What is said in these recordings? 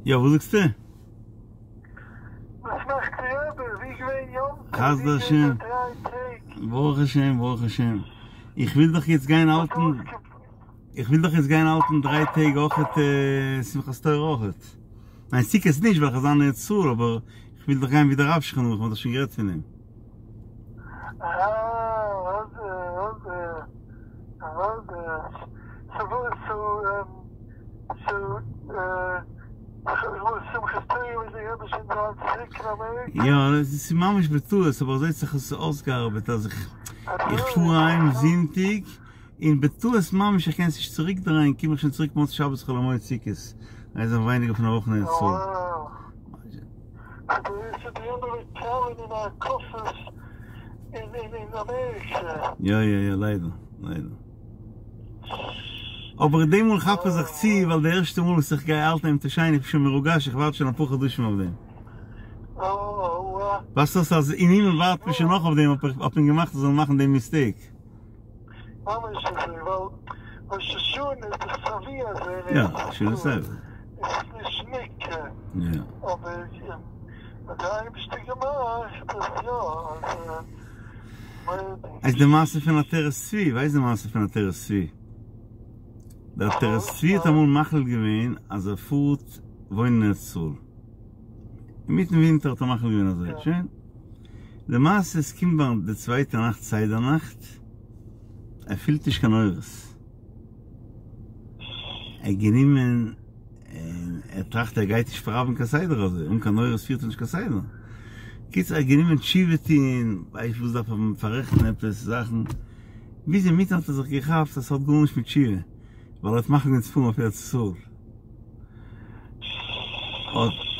יא, וואס זאגסטו? וואס מאכט די רבי? ווי געווען יום טוב? חסדי ווי געווען השם. די דריי טעג? ברוך השם, ברוך השם. איך וויל דאך יעצט גיין האלטן, איך וויל דאך יעצט גיין האלטן דריי טעג אויכעט שמחת תורה אויכעט. ניין סוכות נישט ווייל איך וועל זיין אין ארץ ישראל, אבער איך וויל דאך גיין ווי דער רב שכן ערוך, מ'האט דאך שוין גערעדט פון דעם. אה, אוודאי, אוודאי, אוודאי. סאו וואס, סאו, יא, עס איז ממש בטעות, אבער אזוי האט זיך עס אויסגעארבעט אז איך איך פאר אהיים זונטאג, און בטעות ממש איך קען עס נישט צוריק דרייען, קום איך שוין צוריק מוצאי שבת חול המועד סוכות, איז זיין ווייניגער פון א וואך אין ארץ ישראל. יא יא יא ליידער ליידער. אבער די מאל כאפ איך זיך צו ווייל די ערשטע מאל וואס איך גיי האלטן יום טוב שני איך בין שוין מרוגש איך ווארט שוין אפאר חדשים אויף דעם. ווייסט וואס אז אין הימל ווארט מען שוין נאך אויף דעם האט מען געמאכט אז זאלן מאכן דעם מיסטעיק. יא, שוין בסדר. יא. איז די מעשה פון עטרת צבי, ווייסט די מעשה פון עטרת צבי? דער עטרת צבי האט אמאל מחליט געווען אז ער פארט וואוינען אין ארץ ישראל. אינמיטן ווינטער האט ער מחליט געווען אזוי, שוין. למעשה עס קומט ביי די צווייטע נאכט סדר נאכט, ער פילט נישט קיין אורות. ער האט גענומען און ער טראכט ער גייט נישט פראווען קיין סדר אזוי, אן קיין אורות פירט ער נישט קיין סדר. קיצור ער האט גענומען תשובה טוהן, ווייסט וואס דארף ער פאררעכטן עפעס זאכן, ביז אינמיטן האט ער זיך געכאפט אז ס'האט גארנישט מיט תשובה, ווייל ער האט מחליט געווען צו פארן אויף ארץ ישראל.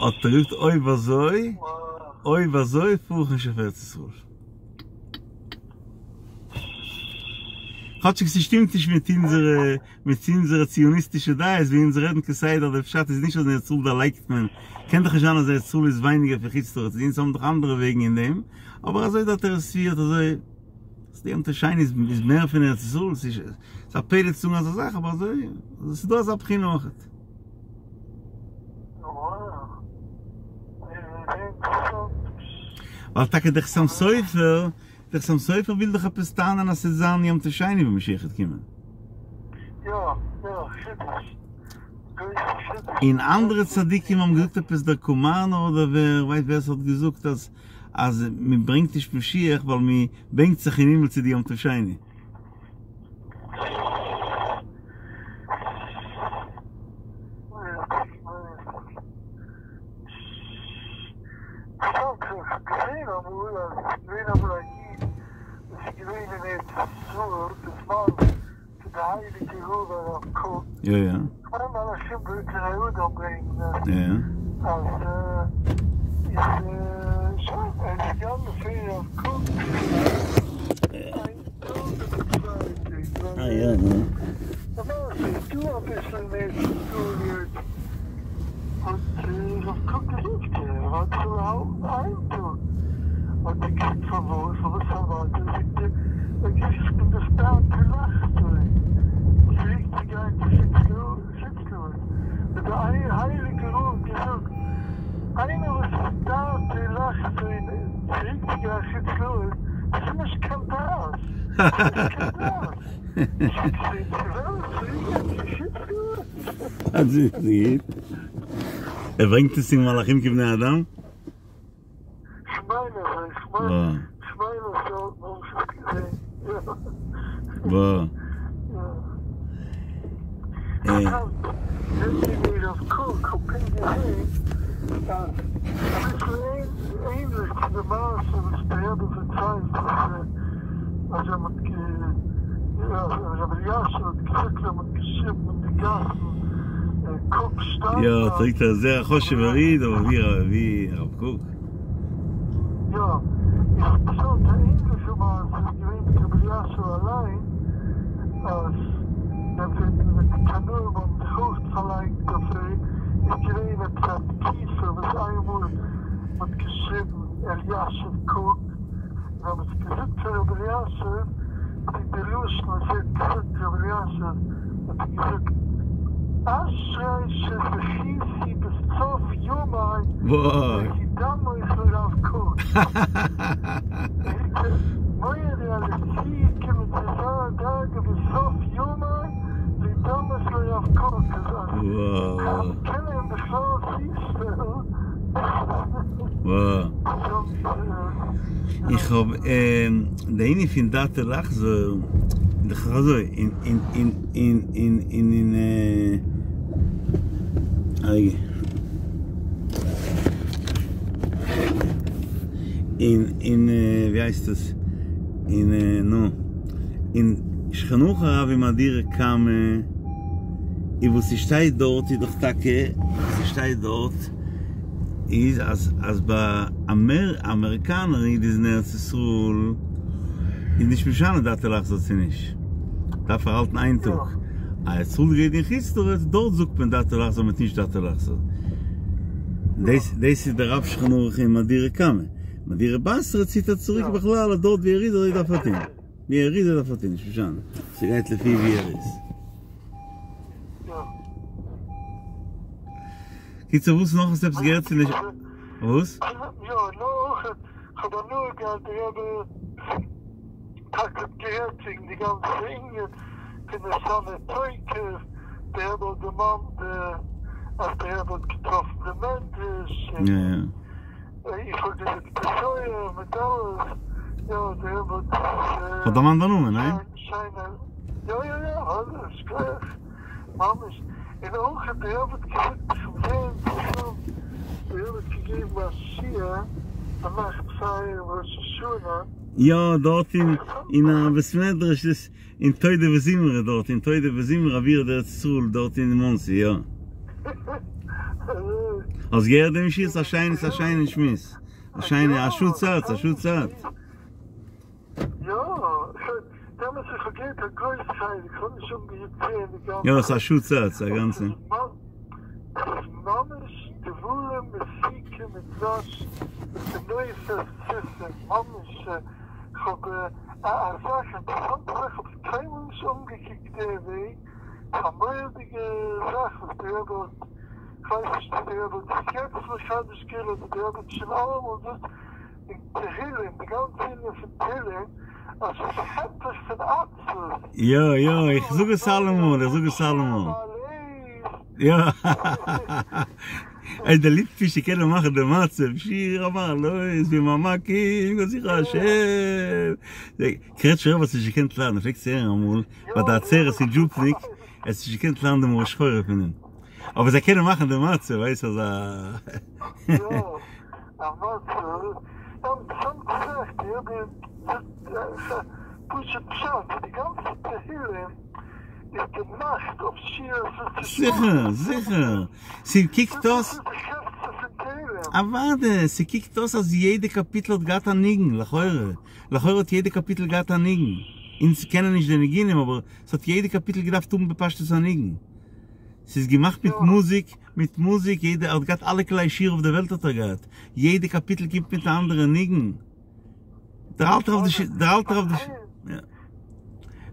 האט ער געזאגט אויב אזוי, אויב אזוי פאר איך נישט אויף ארץ ישראל. כאטשיג ס'שטימט נישט מיט אונזערע מיט אונזערע ציוניסטישע דעות ווי אונז רעדן כסדר דער פשט איז נישט אז אין ארץ ישראל דערלייגט מען, קען דאך נישט זיין אז ארץ ישראל איז ווייניגער פון חוץ לארץ אונז האבן דאך אנדערע וועגן אין דעם, אבער אזוי דער עטרת צבי האט אזוי, אז יום טוב שני איז מער פון ארץ ישראל, ס'איז א פלא צו זאגן אזא זאך אבער אזוי, ס'איז דא אזא בחינה אויכעט. ווייל טאקע דער חתם סופר דער חתם סופר וויל דאך עפעס טענה'ן אז ס'וועט זיין יום טוב שני ווען משיח וועט קומען. יא יא, חידוש. גרויסע חידוש. און אנדערע צדיקים האבן געזאגט עפעס דער קאמארנער אדער ווער ווייסט ווער ס'האט געזאגט אז אז מ'ברענגט נישט משיח ווייל מ'בענקט זיך אין הימל צו די יום טוב שני. סתם כ'האב געזעהן אמאל אז עס איז געווען אמאל א איד וואס איז געווען אין ארץ ישראל בזמן פון די הייליגע רב הרב קוק, יא יא. כ'מיין מלאכים בבני אדם ברענגט עס, יא. אז איז שוין ער איז געגאנגען פון הרב קוק איין טאג אדער צוויי טעג, אה יא נו. למעשה איז דא אביסל אין ארץ ישראל יעצט. האט הרב קוק געזאגט ער האט צו האלטן איין טאג, האט ער געזאגט פארוואס פארוואס פארוואס זאגט ער ווייל איך בין דאך דארט לחזור צוריק צו גיין צו חוץ לארץ, האט דער הייליגער רב געזאגט איינער וואס איז דארט לחזור צוריק צו גיין חוץ לארץ דאס איז נישט קיין דעת, דאס איז נישט קיין דעת, צו וועלן צוריק גיין צו חוץ לארץ. ער ברענגט עס אין מלאכים כבני אדם? יא, זאגט ער זייער א חשוב'ער איד, אבער ווי ווי הרב קוק? יא, איך האב געזאגט א ענליכע מעשה איז געווען מיט רבי אלישיב אליין, אז ווען ווען די קנאים האבן זיך אויך פארלייגט אויף אים, איז געווען עפעס א תקופה וואס איינמאל מ'האט געשריבן אלישיב קוק, און אז מ'האט געזאגט פאר רבי אלישיב, איז די לשון וואס ער האט געזאגט רבי אלישיב, האט ער געזאגט, אשרי שזכיתי בסוף. וואוי. להידמות לרב קוק. מורי אז איך צוגעקומען צו אזא דרגה בסוף ימיי להידמות לרב קוק אז וואו. מ'קען אים בכלל צושטעלן. וואו. איך האב די ענין פון דעתו לחזור, דאך אזוי, אין אין אין אין אין אין אין א רגע. אין אין ווי הייסט עס? אין נו. אין שולחן ערוך הרב אין מהדורא קמא איז וואס ס'שטייט דארט איז דאך טאקע וואס ס'שטייט דארט איז אז אז ביי אמעריקאנער איד איז אין ארץ ישראל איז נישט משנה דעתו לחזור צו נישט דארף ער האלטן איין טאג. א ארץ ישראל'דיגע איד אין חוץ לארץ דארט זאגט מען דעתו לחזור מיט נישט דעתו לחזור. דאס דאס איז דער רב שולחן ערוך אין מהדורא קמא. מהדורא בתרא ציט ער צוריק בכלל אז דארט ווי ער איז אזוי דארף ער טון. ווי ער איז אזוי דארף ער טון נישט משנה. ס'גייט לפי ווי ער איז. קיצור וואס נאך האסטו עפעס געהערט פון די וואס? יא נאר אויך כ'האב הנאה געהאט די רבי טאקע האט גערעדט וועגן די גאנצע ענין פון ונתנה תוקף, די רבי האט דערמאנט די אז די רבי האט געטראפן די מדרש, און איך האב געזאגט תשועה מיט אלעס, יא די רבי האט האט דערמאנט די נאמען, ניין? שיינע, יא יא יא, אלעס, שכוח, ממש, און אויך די רבי האט געזאגט איך בין זייער אינטערעסאנט, די רבי האט געגעבן א שיעור א נאכט פאר ראש השנה. יא דארט אין אין א בית מדרש דאס אין תודה וזמרה דארט אין תודה וזמרה אווירא דארץ ישראל דארט אין מאנסי יא. האסט געהערט דעם שיעור? ס'איז א שיינע ס'איז א שיינע שמועס. א שיינע א שעה צייט א שעה צייט. יא, דעמאלטס איך האב געהערט א גרויס חלק, כ'האב נישט אנגעהויבן צו הערן די גאנצע. יא ס'איז א שעה צייט ס'איז א גאנצע. ס'איז ממש דברים מתוקים מדבש וטינופת סוסים, ממש כ'האב א זאך אינטערעסאנטע זאך כ'האב עס קיינמאל נישט אנגעקוקט די וועג, ס'איז א מורא'דיגע זאך וואס די רבי האט, כ'ווייס נישט צו די רבי האט עס יעצט מחדש געווען אדער די רבי האט שוין אלעמאל דאס אין תהילים, די גאנצע ענין פון תהילים אז ס'איז היפך פון עצבות. יא יא איך זאג עס אלעמאל איך זאג עס אלעמאל. יא איי די ליטווישע קענען מאכן די מצב שיר המעלות ממעמקים קראתיך השם קרעטשמער רב האט נישט געקענט ליידן פלעגט צו הערן אמאל ביי די עצרת אין דזשופניק ער האט נישט געקענט ליידן די מרה שחורה פון אים אבער זיי קענען מאכן די מצב ווייסט אזא יא א מצב אינטערעסאנטע זאך די רבי זאגט פשוט פשט די גאנצע תהילים איז געמאכט אויף שירות ותשבחות. זיכער, זיכער. ס'קוקט אויס. דאס איז די חפצא פון תהלים. אוואדע, ס'קוקט אויס אז יעדע קאפיטל האט געהאט א ניגון, לכאורה. לכאורה האט יעדע קאפיטל געהאט א ניגון. אונז קענען נישט די ניגונים אבער ס'האט יעדע קאפיטל געדארפט האבן בפשטות א ניגון. ס'איז געמאכט מיט מוזיק, מיט מוזיק, יעדע, ער האט געהאט אלע כלי שיר אויף די וועלט האט ער געהאט. יעדע קאפיטל קומט מיט א אנדערע ניגון. דער אלטער רב דער אלטער רב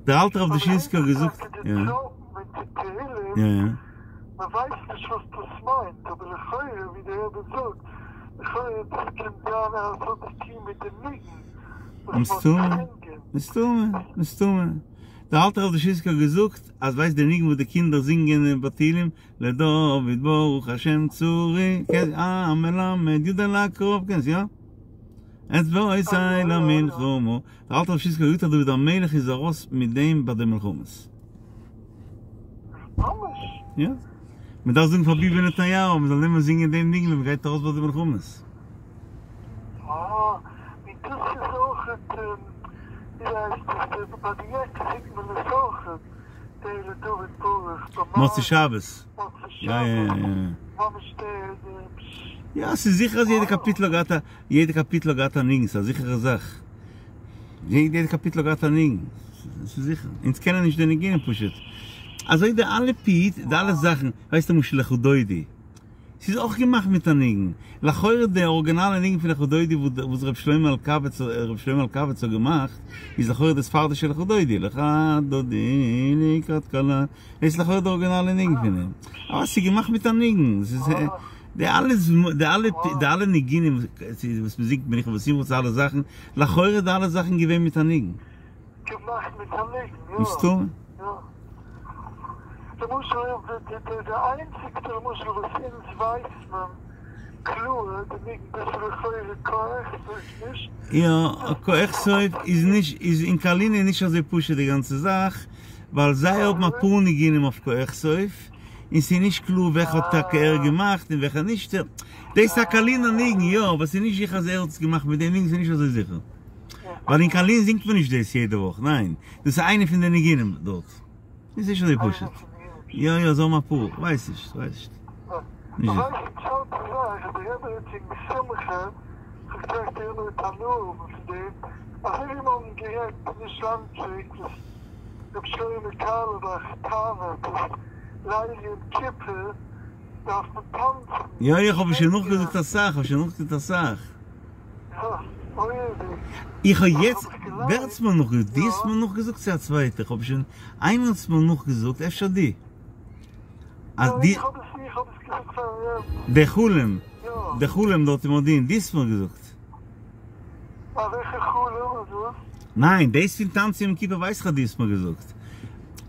דער אלטער רב דושינסקי האט געזאגט יא יא יא. מען ווייסט נישט וואס דאס מיינט, אבער לכאורה ווי דער רבי זאגט, לכאורה דאס קען זיין אז עס האט צו טון מיט די ניגון וואס מען האט געזינגען. מסתמא, מסתמא. דער אלטער רב דושינסקי האט געזאגט אז ווייסט די ניגון וואס די קינדער זינגען ביי תהילים, לדוד ברוך השם צורי, המלמד יודע לעקוב, קענסט יא? אצבעותי למלחמה, דער אלטער רב דושינסקי האט געזאגט אז דוד המלך איז ארויס מיט דעם ביי די מלחמות. ממש? יא. מען דארף זאגן פאר ביבי נתניהו מען זאל נעמען זינגען דעם ניגון ווען מען גייט ארויס ביי די מלחמות. אה, און דאס איז אויכעט, ווי הייסט עס, ביי די יעקע זינגט מען עס אויכעט, דער לדוד ברוך, ביי מוצאי שבת. מוצאי יא יא שבת, יא. ממש דער דער. יא ס'איז זיכער אז יעדע קאפיטל האט געהאט א יעדע קאפיטל האט געהאט א ניגון ס'איז א זיכערע זאך יעדע קאפיטל האט געהאט א ניגון ס'איז זיכער אונז קענען נישט די ניגונים פשוט אזוי די אלע פיוט די אלע זאכן ווייסט למשל לכה דודי ס'איז אויך געמאכט מיט א ניגון לכאורה די ארגינאלע ניגון פון לכה דודי וואס ר' שלמה אלקבץ ר' שלמה אלקבץ האט געמאכט איז לכאורה די ספרדישע לכה דודי לכה דודי לקראת כלה דאס איז לכאורה די ארגינאלע ניגון פון אים אבער ס'איז געמאכט מיט א ניגון ס'איז. די אלע די אלע די אלע ניגונים וואס מען זינגט מנוחה ושמחה צו אלע זאכן, לכאורה איז די אלע זאכן געווען מיט א ניגון. געמאכט מיט א ניגון, יא. מסתמא. יא. למשל די די די איינציגסטע למשל וואס אונז ווייסט מען קלאר די ניגון דאס איז לכאורה קה אכסוף נישט? יא, קה אכסוף איז נישט איז אין קארלין איז נישט אזוי פשוט די גאנצע זאך, ווייל זיי האבן אפאר ניגונים אויף קה אכסוף, און ס'איז נישט קלאר וועלכע האט טאקע ער געמאכט און וועלכע נישט, דאס איז א קארלינער ניגון יא, אבער ס'איז נישט זיכער אז ער האט עס געמאכט מיט דעם ניגון, ס'איז נישט אזוי זיכער. ווייל אין קארלין זינגט מען נישט דאס יעדע וואך, ניין, דאס איז איינע פון די ניגונים דארט. איז נישט אזוי פשוט. יא יא זיי האבן אפאר, כ'ווייס נישט, כ'ווייס נישט. נישט זיכער. רבי שלמה קארלבאך טענה'ט אז ליל יום כיפור דארף מען טאנצן. יא איך האב שוין נאכגעזאגט אסאך, כ'האב שוין נאכגעזאגט אסאך. איך האב יעצט, ווער האט עס מיר נאכגעזאגט? דו האסט מיר נאכגעזאגט צו א צווייטער? כ'האב שוין, איינער האט עס מיר נאכגעזאגט, אפשר דו? אז די. די חלום, די חלום דארט אין מודיעין, דו האסט מיר געזאגט. א וועלכע חלום איז דאס? ניין, דאס פון טאנצן יום כיפור ווייס איך אז דו האסט מיר געזאגט.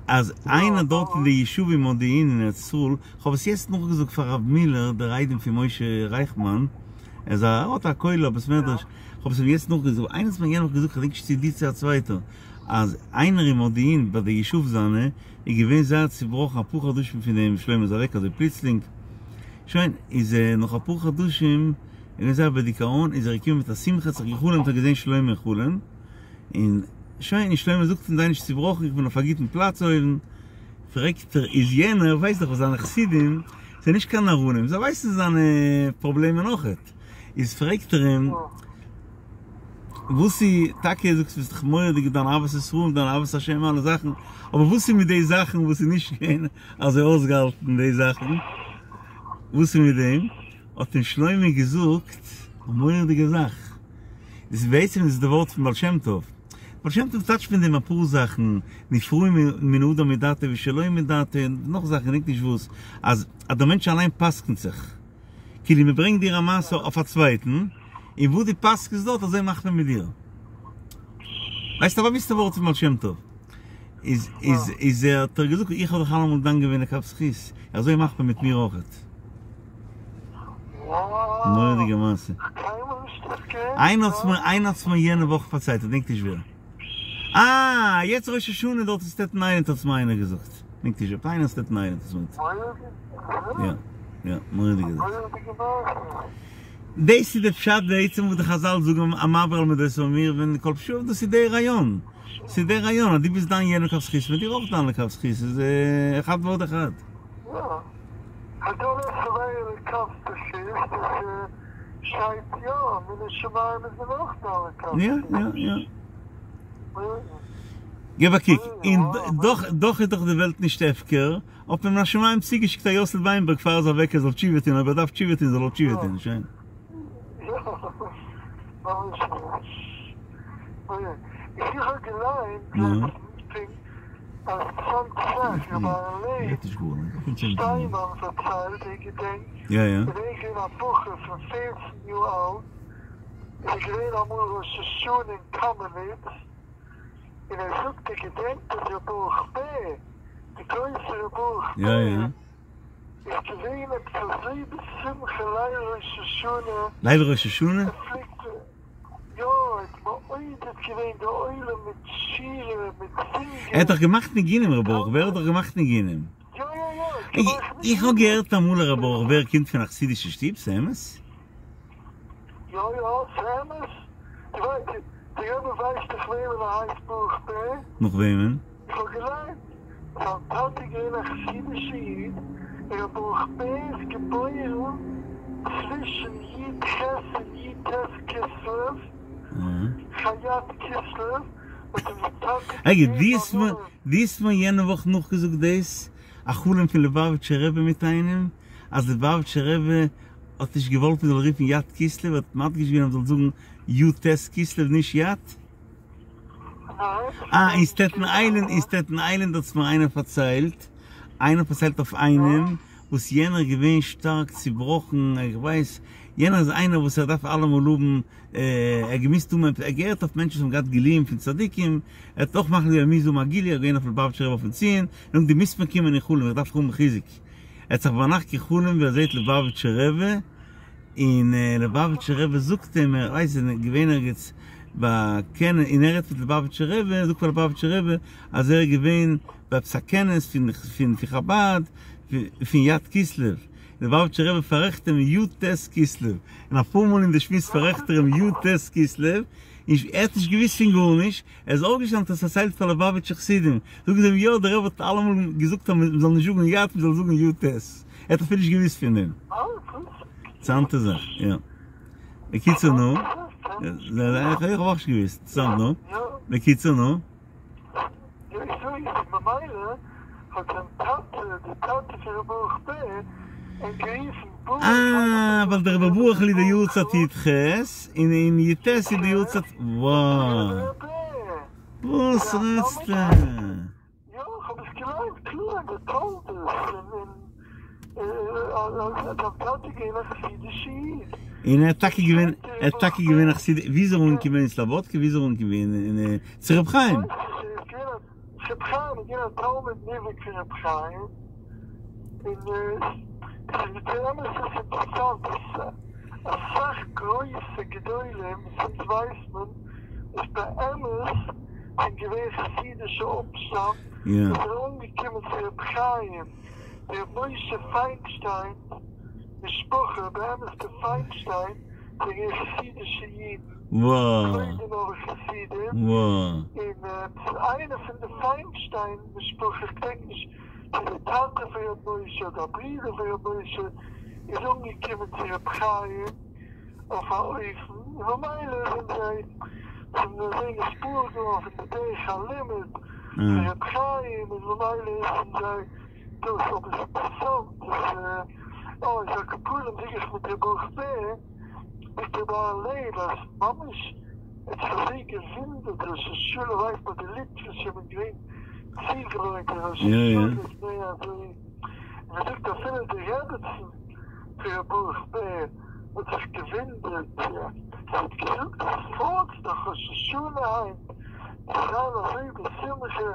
אז איינער דארט אין די ישוב אין מודיעין אין ארץ ישראל, כ'האב עס יעצט נאכגעזאגט פאר הרב מילער דער איידעם פון משה רייכמאן, ער איז א ער האט א כולל א בית מדרש, כ'האב עס אים יעצט נאכגעזאגט, איינער האט מיר יענע וואך געזאגט כ'דענק נישט צו דו צו א צווייטער, אז איינער אין מודיעין ביי די ישוב זיינע איז געווען זייער צובראכן אפאר חדשים פון דעם שלמה איז אוועק אזוי פלוצלינג, שוין איז ער נאך אפאר חדשים איז געווען זייער בדיכאון, איז ער געקומען מיט א שמחה, האט זיך גע'חלומ'ט האט געזען שלמה אין חלום, און שוין, און שלמה זאגט אים זיי נישט צובראכן איך בין אויף א גוטן פלאץ אויבן, פרעגט ער, איז יענער ווייסט דאך וואס זיינע חסידים זענען נישט קיין נאראנים, זיי ווייסן זיינע פראבלעמען אויכעט, איז פרעגט ער אים, וואס איז, טאקע זאגסט ביסט דאך מורא'דיג דיין אהבת ישראל און דיין אהבת השם אלע זאכן, אבער וואס איז מיט די זאכן וואס איז נישט געווען אזוי אויסגעהאלטן די זאכן, וואס איז מיט דעם? האט אים שלמה געזאגט א מורא'דיגע זאך, דאס איז בעצם איז די ווארט פון בעל שם טוב, בעל שם טוב טייטשט פון דעם אפאר זאכן, נפרעין מן האדם מדעתו ושלא מדעתו, און נאך זאכן געדענק נישט וואס, אז אז דער מענטש אליין פסק'נט זיך, כאילו מען ברענגט דיר א מעשה אויף א צווייטן, און וואס דו פסק'נסט דארט אזוי מאכט מען מיט דיר. ווייסט א באוויסטע ווארט פון בעל שם טוב, איז איז איז ער האט ער געזאגט איך האב דיך אלעמאל דן געווען לכף זכות, אזוי מאכט מען מיט מיר אויכעט. מורא'דיגע מעשה. איינער האט מיר איינער האט מיר יענע וואך פארציילט, איך דענק נישט ווער. אה! יעצט ראש השנה דארט אין סטעטן איילענד האט עס מיר איינער געזאגט. דענק נישט ווער. איינער אין סטעטן איילענד האט עס מיר געזאגט. יא יא מורא'דיגע זאך. דאס איז די פשט בעצם וואס די חזל זאגן המעביר על מידותיו מעורבין כל פשעיו דאס איז די רעיון. ס'איז די רעיון אז דו ביסט דן יענעם לכף זכות מ'וועט דיר אויך דן לכף זכות. ס'איז אחד ועוד אחד. יא. הדן את חברו לכף זכות דאס שטייט יא מן השמים איז מען אויך דן לכף זכות. יא יא יא. געב א קוק, און דאך דאך איז דאך די וועלט נישט הפקר, האט מען מן השמים צוגעשיקט א יאסל וויינבערג פאר ער איז אוועק ער זאל תשובה טון, אויב ער דארף תשובה טון זאל ער תשובה טון, שוין. יא, ממש נישט. איך האב געליינט לעצטנס אז צאנז זאך רבי אהרן לייב שטיינמאן פארציילט ער געדענקט ווען ער איז געווען א בחור פון פערצן יאר אלט איז ער געווען אמאל ראש השנה אין קאמעניץ און ער זאגט ער געדענקט אז ר' ברוך בער די גרויסע ר' ברוך בער איז געווען עפעס אזוי בשמחה ליל ראש השנה ליל ראש השנה? ער פלעגט יא, ער האט מעודד געווען די עולם מיט שירה, מיט זינגען. ער האט דאך געמאכט ניגונים ר' ברוך בער האט דאך געמאכט ניגונים. יא יא יא, ער האט געמאכט ניגונים. איך האב געהערט אמאל ר' ברוך בער קומט פון א חסידישע שטוב, ס'אמת? יא יא, ס'אמת. דו ווייסט, די רבי ווייסט דאך וועמען ער הייסט ברוך בער? נאך וועמען? איך האב געליינט, זיין טאטע איז געווען א חסידישע איד, און ר' ברוך בער איז געבוירן צווישן י ח און י ט כסלו, ח י כסלו, האט אים זיין טאטע רגע, געגעבן דו א האסט מיר, נאמען. דו האסט מיר יענע וואך נאכגעזאגט דאס, א חלום פון ליובאוויטשער רבי מיט איינעם, אז ליובאוויטשער רבי האט נישט געוואלט מען זאל רופן יט כסלו, האט מדגיש געווען אז מען זאל זאגן י ט כסלו נישט יט. אה, אין סטעטן איילענד, אין סטעטן איילענד האט עס מיר איינער פארציילט, איינער פארציילט אויף איינעם, וואס יענער איז געווען שטארק צובראכן, איך ווייס, יענער איז איינער וואס ער דארף אלעמאל האבן, ער האט געמוזט האבן, ער האט געהערט אויף מענטשן וואס האבן געהאט גילויים פון צדיקים, ער האט אויך מחליט געווען ער מוז האבן א גילוי, ער איז געווען אויף ליובאוויטשער רבי אויפן ציון, און דו מוזט מיר קומען אין חלום, איך דארף האבן חיזוק. ער האט זיך ביינאכט גע'חלומ'ט ווי ער זעט ליובאוויטשער רבי, און ליובאוויטשער רבי זאגט אים, ער ווייסט איז געווען ערגעץ ביי כנס, און ער רעדט מיט ליובאוויטשער רבי, זאגט פאר ליובאוויטשער רבי אז ער איז געווען ביי עפעס א כנס פון פון חבד פון י"ד כסלו, ליובאוויטשער רבי פאררעכט אים י"ט כסלו, און אפאר מאל אין די שמועס פאררעכט ער אים י"ט כסלו, און ער האט נישט געוואוסט פון גארנישט, ער איז אויפגעשטאנען האט עס פארציילט פאר ליובאוויטשער חסידים, זאגן זיי אים יא דער רבי האט אלעמאל געזאגט אז מען זאל נישט זאגן י"ד מען זאל זאגן י"ט, ער האט אפילו נישט געוואוסט פון דעם. אינטערעסאנטע זאך, יא. בקיצור נו, איך האב אויך נישט געוואוסט, אינטערעסאנט נו, בקיצור נו. אה, ווייל דער רבי ברוכ'ל איז די יארצייט י"ח, און אין י"ט איז די יארצייט, וואו. וואס רעדסטו? און ער האט טאקע געווען, ער האט טאקע געווען א חסיד, ווי איז ער אנגעקומען אין סלאבאדקע, ווי איז ער אנגעקומען אין צו ר' חיים? ר' חיים איז געווען א תלמיד מובהק פון ר' חיים, און באמת איז אינטערעסאנט אז אסאך גרויסע גדולים וואס אונז ווייסט מען איז באמת זענען געווען חסידישע אפשטאם, וואס זענען אנגעקומען צו ר' חיים, ר' משה פיינשטיין משפחה, באמת די פיינשטיין זענען געווען חסידישע אידן. קלויזענבורגער חסידים, און איינער פון די פיינשטיין משפחה, איך געדענק נישט צו די טאטע פון ר' משה אדער א ברודער פון ר' משה, איז אנגעקומען צו ר' חיים אויף א אופן, און ממילא זענען זיי זענען אזוי נתפעל געווארן פון די דרך הלימוד פון ר' חיים, און ממילא זענען זיי דאס, אבער ס'איז אינטערעסאנט אז אה, על כל פנים זאג איך מיט ר' ברוך בער. מיט ר' אהרן לייב אז ממש ער האט זיך אזוי געווינדערט ראש השנה ווייסט מען די ליטווישע זענען געווען צוגעוואוינט אין ראש השנה איז מער אזוי און מען זאגט אפילו די רעבעצן פון ר' ברוך בער האט זיך געווינדערט זי האט געזאגט אז פארט דאך ראש השנה היינט צו זיין אזוי בשמחה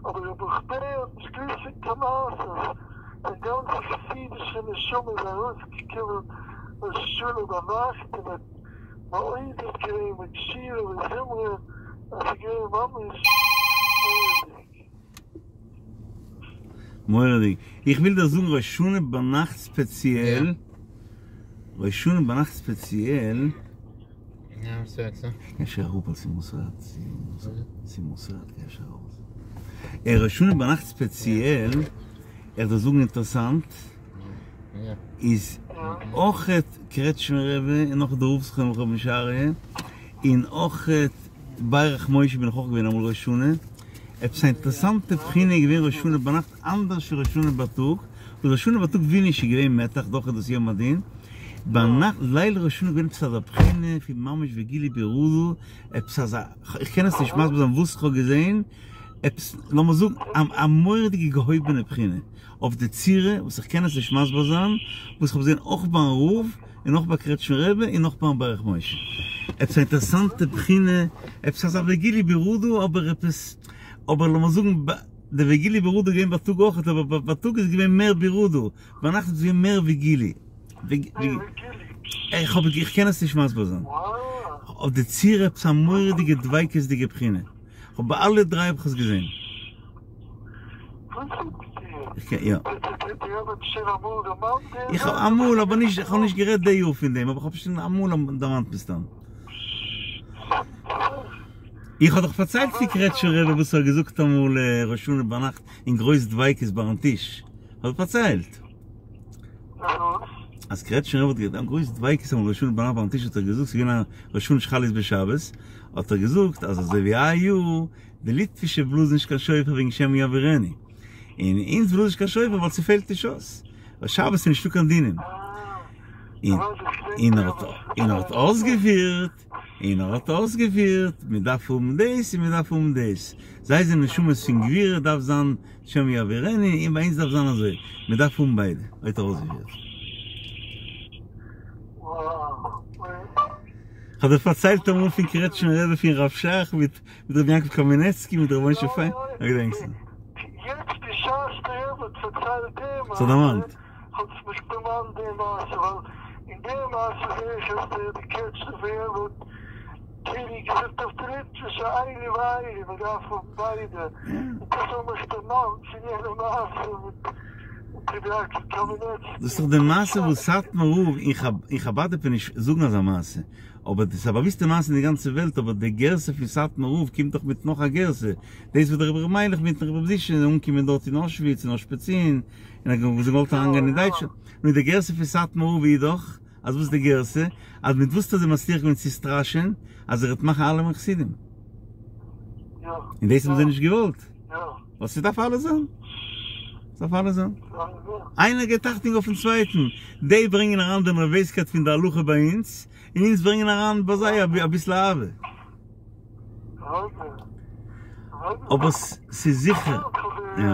אבער ר' ברוך בער האט נישט געוויסט פון קיין מעשות זיין גאנצע חסידישע נשמה איז ארויסגעקומען ראש השנה ביינאכט און האט מעודד געווען מיט שירה וזמרה אז ס'איז געווען ממש מורא'דיג. מורא'דיג. איך וויל דיר זאגן ראש השנה ביינאכט ספעציעל, ראש השנה ביינאכט ספעציעל, אפשר אראפ על סימוס רד, סימוס רד אפשר ארויס. ראש השנה ביינאכט ספעציעל, איך דיר זאגן אינטערסאנט, איז אויכעט קרעטשמער רבי און נאך די רב זכרונו לברכה רבי משה אריה, און אויכעט ברך משה בין איך אויך געווען אמאל ראש השנה, עפעס א אינטערעסאנטע בחינה איז געווען ראש השנה ביינאכט אנדערש ווי ראש השנה בייטאג, וואס ראש השנה בייטאג ווי נישט איז געווען מתח דאך איז דאס יום הדין, ביינאכט ליל ראש השנה איז געווען עפעס אזא בחינה פון ממש וגילו ברעדה, עפעס אזא, איך קען עס נישט מסביר זיין וואס איך האב געזען, עפעס לאמיר זאגן א מורא'דיגע געהויבענע בחינה. אויף די צורה וואס איך קען עס נישט מסביר זיין, וואס איך האב געזען אויך ביים רב, און אויך ביי קרעטשמער רבי, און אויך ביים ברך משה. עפעס א אינטערעסאנטע בחינה, עפעס אזא וגילו ברעדה, אבער עפעס, אבער לאמיר זאגן, די וגילו ברעדה איז געווען בייטאג אויך, אבער בייטאג איז געווען מער ברעדה, ביינאכט איז געווען מער וגילו. איך האב, איך קען עס נישט מסביר זיין. אויף די צורה עפעס א מורא'דיגע דביקות'דיגע בחינה. כ'האב ביי אלע דריי האב איך עס געזען. איך האב אמאל אבער נישט איך האב נישט גערעדט די יאר פון דעם אבער איך האב שוין אמאל דערמאנט מסתם. איך האב דאך פארציילט פון קרעטשמער רבי וואס ער האט געזאגט אמאל ראש השנה ביינאכט אין גרויס דביקות ביים טיש. האב איך פארציילט. אז קרעטשמער רבי האט געזאגט אין גרויס דביקות אמאל ראש השנה ביינאכט ביים טיש האט ער געזאגט ס'איז געווען א ראש השנה שחל להיות בשבת האט ער געזאגט אז אזוי ווי היי יאר די ליטווישע בלאזן נישט קיין שופר וועגן שמא יעבירנו, און אונז בלאזן נישט קיין שופר ווייל ס'פעלט נישט אויס, ווייל שבת איז נישטא קיין דינים. און ער האט אויסגעפירט. און ער האט אויסגעפירט, מען דארף האבן דאס און מען דארף האבן דאס, זיי זענען נשמות פון גבורה דארף זיין השם יעבירנו, און ביי אונז דארף זיין אזוי, מען דארף האבן ביידע, האט ער אויסגעפירט. כ'האב דיר פארציילט אמאל פון קרעטשמער רבי פון רב שך מיט רבי יעקב קאמינעצקי מיט רבי משה פיין, א געדענקסט? יעצט בשעת דער רבי האט פארציילט די מעשה, ס'האט דערמאנט. האט עס מיך דערמאנט די מעשה, ווייל אין די מעשה זעה איך אז דער די קרעטשניפער רבי האט כאילו געזאגט אויף די ליטווישע אלו ואלו, מען דארף האבן ביידע, און דאס האט מיך דערמאנט פון יענע מעשה מיט רבי יעקב קאמינעצקי. דאס איז דאך די מעשה וואס סאטמאר רב אין חבד דארף מען נישט זאגן אזא מעשה, אבער דאס איז א באוויסטע מעשה אין די גאנצע וועלט, אבער די גרסה פון סאטמאר רב קומט דאך מיט נאך א גרסה, דאס וואס דער רבי ר' מיילעך מיטן רבי ר' זישע זענען אנגעקומען דארט אין אושוויץ און אושפיצין, און האט געוואלט אריינגיין אין דייטשלאנד, נו די גרסה פון סאטמאר רב איז דאך, אז וואס איז די גרסה? אז מיט וואס האט ער זיי מצליח געווען צו סטראשען אז ער וועט מאכן אלעמען חסידים? און דאס האבן זיי נישט געוואלט, ווייל ס'דארף אלעס זיין, ס'דארף אלעס זיין. איינער געבט אכטונג אויפן צווייטן, די ברענגען אריין די נערוועזקייט פון די הלכה ביי אונז, און אונז ברענגען אריין ביי זיי אביסל אהבה. אבער ס'איז זיכער, יא,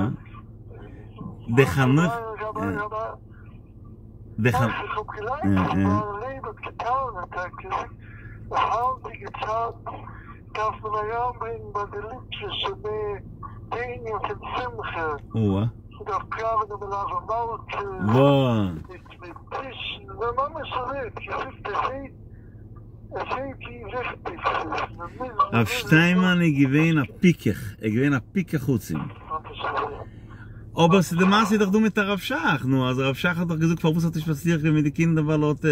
די חנוך, די חנוך, יא יא. אוה. וואו. רב שטיינמאן איז געווען א פיקח, ער איז געווען א פיקח עצום. אבער ס'איז די מעשה איז דאך דא מיט הרב שך, נו אז הרב שך האט דאך געזאגט פארוואס האט נישט מצליח געווען מיט די קינדער ווייל ער האט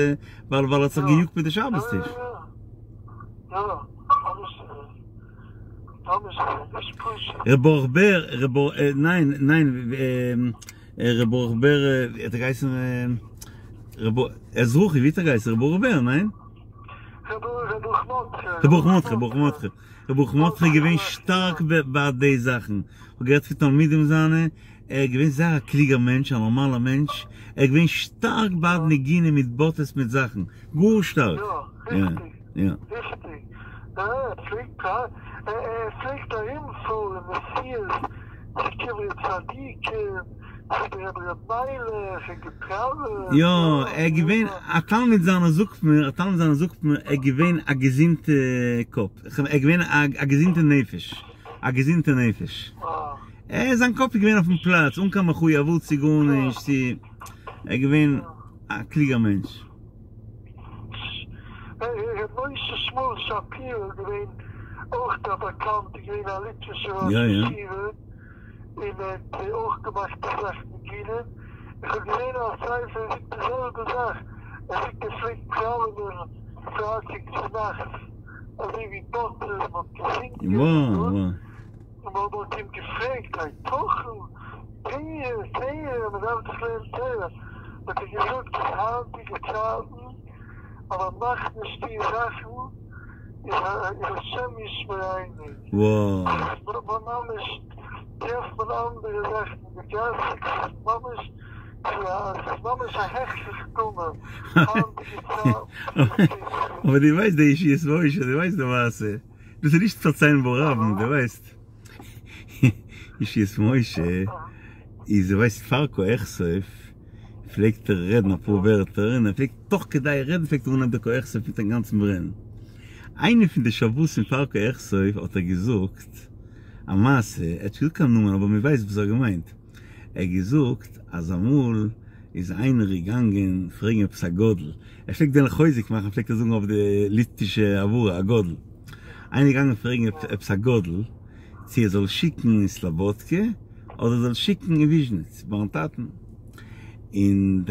ווייל ווייל ער האט זיך געיאגט מיט די שבת טיש. ר' ברוך בער, ר' ברוך, ניין ניין ר' ברוך בער האט ער געהייסן ר' ברוך, אזרחי, ווי האט ער געהייסן? ר' ברוך בער, ניין? ר' ברוך מרדכי. ר' ברוך מרדכי, ברוך מרדכי. ר' ברוך מרדכי איז געווען שטארק ביי די זאכן. כ'האב געהערט פון תלמידים זיינע, ער איז געווען זייער א קלוגער מענטש, א נארמאלער מענטש, ער איז געווען שטארק בעד נגינה מיט באטעס מיט זאכן, גאר שטארק. יא, ריכטיג. יא. ריכטיג. ער פלעגט ער פלעגט ארומפארן נסיעות צו קברי צדיקים, צו די רבי ר' מיילעך און געפראוועט. יא, ער איז געווען, א תלמיד זיינער זאגט מיר, א תלמיד זיינער זאגט מיר, ער איז געווען א געזונטע קאפ, ער איז געווען א געזונטע נפש, א געזונטע נפש. ער, זיין קאפ איז געווען אויפן פלאץ, אן קיין מחויבות צו גארנישט, צו, ער איז געווען א קלוגער מענטש. ר' משה שמואל שפירא איז געווען אויך א באקאנט איז געווען א ליטווישער ראש ישיבה און ער האט אויך געמאכט אסאך ניגונים, איך האב געזען א ספר ער זאגט די זעלבע זאך, ער זאגט ער פלעגט פראווענען פרייטאג צונאכטס אזוי ווי באטעס מען האט געזינגען און מען האט אים געפרעגט היתכן תורה תורה מען דארף דאך לערנען תורה האט ער געזאגט אז היינטיגע צייטן אז מען מאכט נישט די זאכן איז השם ישמרינו, ממש טרעפט מען אנדערע זאכן אין די גאס, ס'איז ממש ס'איז ממש א הכרח טמא היינטיגע צייטן. אבער דו ווייסט די ישועות משה, דו ווייסט די מעשה, דאס איז נישט פארציילן ברבים, דו ווייסט ישועות משה איז דו ווייסט פאר קה אכסוף פלעגט ער רעדן אפאר ווערטער און ער פלעגט תוך כדי רעדן פלעגט ער אנהייבן די קה אכסוף מיטן גאנצן ברען. איינע פון די שבתים פאר קה אכסוף האט ער געזאגט א מעשה, ער האט נישט געזאגט קיין נאמען אבער מען ווייסט וואס ער האט געמיינט, ער האט געזאגט אז אמאל איז איינער געגאנגען פרעגן עפעס א גדול, ער פלעגט וועלן חוזק מאכן פלעגט ער זאגן אויף די ליטווישע הברה א גדול, איינער געגאנגען פרעגן עפעס א גדול צו ער זאל שיקן אין סלאבאדקע אדער ער זאל שיקן אין וויזשניץ ביים טאטן, און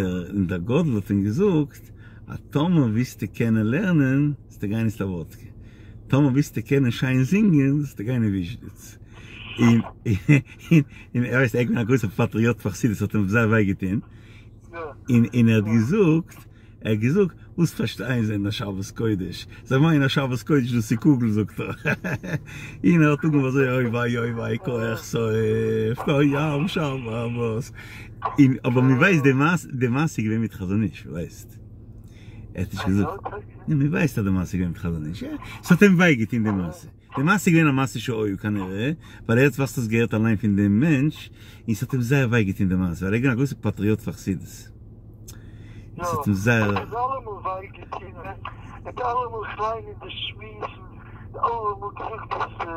דער גדול האט אים געזאגט אז טאמער ווילסטו קענען לערנען זאלסטו גיין אין סלאבאדקע, טאמער ווילסטו קענען שיין זינגען זאלסטו גיין אין וויזשניץ. און און ער ווייסט ער איז געווען א גרויסער פאטריאט פאר חסידות האט אים זייער וויי געטון, און און ער האט געזאגט ער האט געזאגט, וואס פארשטייען זיי אין א שבת קודש? זיי מיינען א שבת קודש דאס איז קוגל זאגט ער. און ער האט אנגעהויבן אזוי אוי וויי אוי וויי קה אכסוף ים שבת. און אבער מען ווייסט די מעשה די מעשה איז געווען מיט חזון איש ווייסט. ער האט נישט געזאגט. נו, מען ווייסט אז די מעשה איז געווען מיט חזון איש. ס'האט אים וויי געטון די מעשה. די מעשה איז געווען א מעשה שהיה כנראה, ווייל ער האט וואס דאס געהערט אליין פון דעם מענטש, און ס'האט אים זייער וויי געטון די מעשה, ווייל ער איז געווען א גרויסער פאטריאט פאר חסידות. ס'האט אים זייער. יא, האט אלעמאל וויי געטון, ער האט אלעמאל כ'ליין אין די שמועסן, אלעמאל געזאגט אז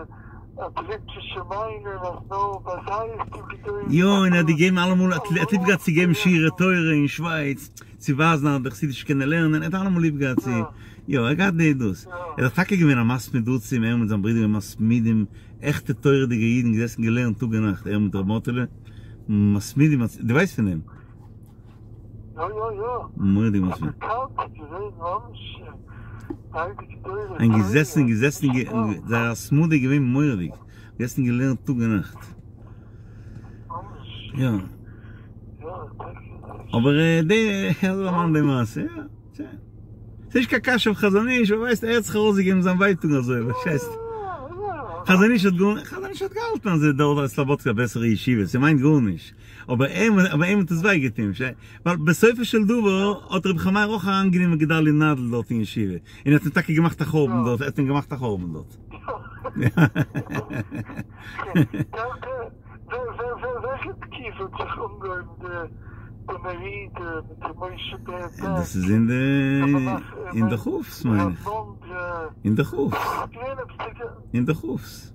אז די ליטווישע מיינען אז נאר ביי זיי איז דא גדולים. יא, און ער האט געגעבן אלעמאל, ער האט ליב געהאט צו געבן שיעורי תורה אין שווייץ, צו ווייזן אז די חסידישע קענען לערנען, ער האט אלעמאל ליב געהאט צו, יא, ער האט געהאט די דאס. ער איז טאקע געווען א מתמיד עצום, ער מיט זיין ברודער געווען מתמידים, עכטע תורה'דיגע אידן, געזעסן געלערנט טאג און נאכט, ער מיט ר' מאטעלע, מתמידים, דו ווייסט פון דעם? יא יא יא. מורא'דיג מתמיד. באקאנט געווען ממש ביידע גדולי תורה. און געזעסן און געזעסן, זייער התמדה איז געווען מורא'דיג, געזעסן און געלערנט טאג און נאכט. ממש. יא. אבער די, אזוי דערמאנט די מעשה, יא, שוין. ס'נישט קיין קשיא אויף חזון איש, אבער ווייסט, ער האט זיך ארויסגעגעבן זיין ווייטאג אזוי, פארשטייסט? חזון איש האט גאר, חזון איש האט געהאלטן אז דארט איז סלאבאדקע א בעסערע ישיבה, ס'מיינט גארנישט. אבער אים, אבער אים האט עס וויי געטון, ווייל בסופו של דבר האט רבי חיים מאיר אויך אריינגענומען גדלי' נאדל דארט אין ישיבה, און האט אים טאקע געמאכט א חורבן דארט, ער האט אים געמאכט א חורבן דארט. וועלכע תקופה האט זיך אנגעהויבן די מרידה מיט ר' משה בער בעק? דאס איז אין די אין די כף'ס מיין איך. אין די כף'ס. אין די כף'ס.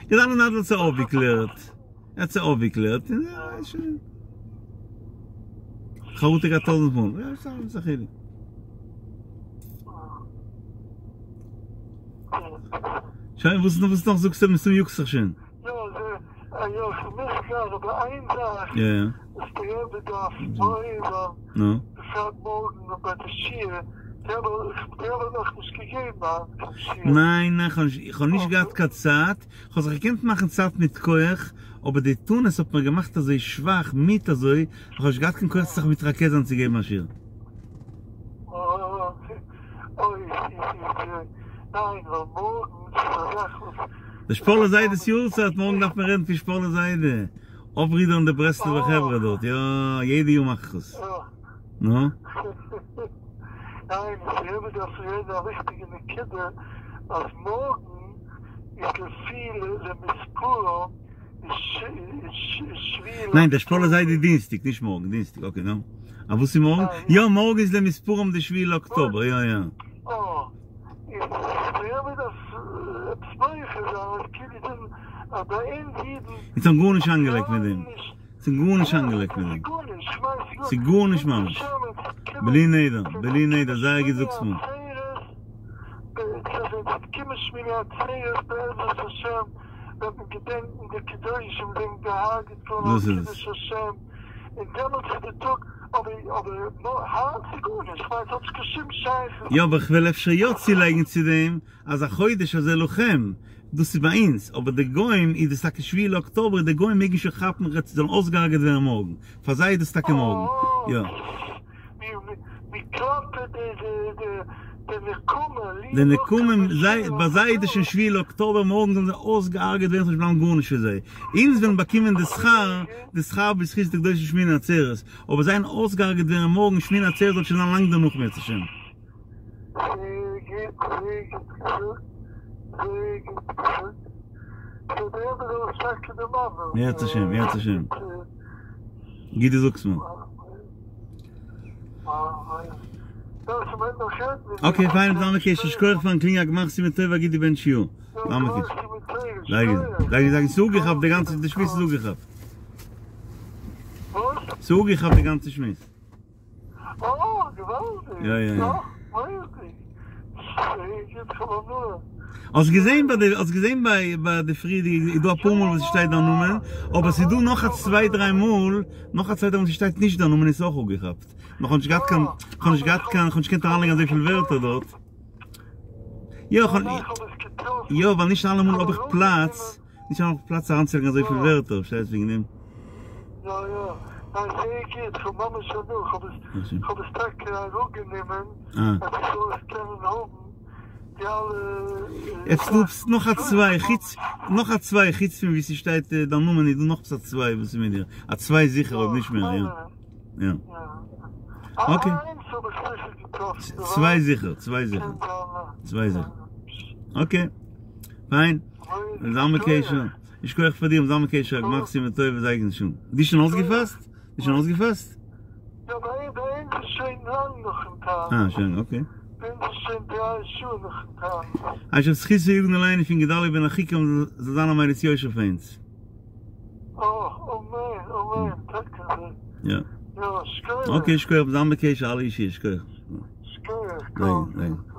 גדלי' נאדל האט זיי אויפגעקלערט. ער האט זיי אויפגעקלערט און שוין. חרטה געהאט טויזנט מאל. יא סתם איז א חילוק. שוין וואס וואס נאך זאגסטו מסתמא יאגסט זיך שוין. יא יא כ'מוז גיין אבער איין זאך וואס די רבי דארף מעורר זיין בפרט מארגן ביי די שיעור, די רבי האט נאכנישט געגעבן היינט קיין שיעור. ניין ניין כ'האב נישט געהאט קיין צייט, כ'האב זיך געקענט מאכן צייט מיט כח, אבער די תענית האט מיר געמאכט אזוי שוואך, מיד אזוי, כ'האב נישט געהאט קיין כח צו זיך מתרכז זיין צו געבן א שיעור. די שפאלער זיידע'ס יארצייט, מארגן דארף מען רעדן פון שפאלער זיידע, אויפרודערן די ברסלב'ע חברה דארט, יא, יעדע יאר מאך איך עס. נו? ניין, די רבי דארף רעדן א וויכטיגע נקודה, אז מארגן איז לפי למספרם ניין דער שפאלער זיידע דינסטאג נישט מארגן דינסטאג אקעי נו א וואס איז מארגן? יא מארגן איז למספרם די שביעי לאקטאבער יא יא. אונז האבן גארנישט אנגעלייגט מיט דעם. ס'איז גארנישט אנגעלייגט מיט דעם. ס'איז גארנישט ממש. בלי נדר, בלי נדר, זייער גוט זאגסט מיר. וועט מען געדענקן די קדושים זענען געהארגעט געווארן על דאס איז עס. קידוש השם, און דעמאלטס איז די טאג, אבער אבער היינט איז גארנישט, כ'מיין ס'האט נישט קיין שום שייכות. יא אבער כ'וועל אפשר יא צולייגן צו דעם אז החודש הזה לכם, דאס איז ביי אונז, אבער די גוים איז דאס טאקע שביעי לאקטאבער, די גוים מעגן שוין כאפן ר' זאלן אויסגעהארגעט ווערן מארגן, פאר זיי איז דאס טאקע מארגן, יא. די נקמה, זיי, ביי זיי איז דאס שוין שביעי לאקטאבער, מארגן זאלן זיי אויסגעהארגעט ווערן, ס'זאל נישט בלייבן גארנישט פון זיי. אונז וועלן באקומען די שכר, די שכר בזכות די קדושי שמיני עצרת, אבער זיי וועלן אויסגעהארגעט ווערן מארגן, שמיני עצרת זאל שוין זיין לאנג דערנאך אם ירצה השם. אם ירצה השם, אם ירצה השם. גוט דו זאגסט מיר. אקעי פיין זיי מקשר שכוח פארן קלינגען א גמר חתימה טובה א גוטע בענטש יאר. זיי מקשר. זיי זיי זאגן ס'איז אפגעכאפט די גאנצע די שמועס איז אפגעכאפט. ס'איז אפגעכאפט די גאנצע שמועס. יא יא יא. האסט געזען ביי די האסט געזען ביי ביי די פריערדיגע איז דא אפאר מאל וואס ס'שטייט דיין נאמען אבער ס'איז דא נאך א צוויי דריי מאל נאך א צוויי דריי מאל ס'שטייט נישט דיין נאמען איז אויך אפגעכאפט נאר כ'האב נישט געהאט קיין כ'האב נישט געהאט קיין כ'האב נישט געקענט אריינלייגן אזויפיל ווערטער דארט יא כ'האב יא ווייל נישט אלעמאל האב איך פלאץ נישט אלעמאל האב איך פלאץ אריינצולייגן אזויפיל ווערטער פארשטייסט וועגן דעם. יא יא, ניין זייער גוט, כ'האב ממש הנאה, כ'האב עס כ'האב עס טאקע אראפגענומען אז איך זאל עס קענען האבן די אלע עפעס דא עפעס נאך א צוויי חוץ נאך א צוויי חוץ פון ווי ס'שטייט דיין נאמען איז דא נאך עפעס א צוויי וואס איז מיט דיר? א צוויי זיכער אויב נישט מער יא יא אקעי. האב איך זיכער געטראפן, צוויי זיכער, צוויי זיכער, צוויי זיכער. okay, פיין, זיי בקשר. יישר כח פאר דיר, זיי בקשר, גמר חתימה טובה, זיי געזונט שוין. דו שוין אויסגעפאסט? דו שוין אויסגעפאסט? יא, ביי אונז איז שוין לאנג נאכן תענית. אה, שוין, okay. ביי אונז איז שוין דריי שעה נאכן תענית. אשר זכותו יגן עלינו פון גדלי' בן אחיקם זאל זיין א מליץ יושר פאר אונז. אה, אמן, אמן, טאקע אזוי. יא. יא, שכוח. okay, שכוח, זיי בקשר, אלע אישי, שכוח. שכוח, כל טוב.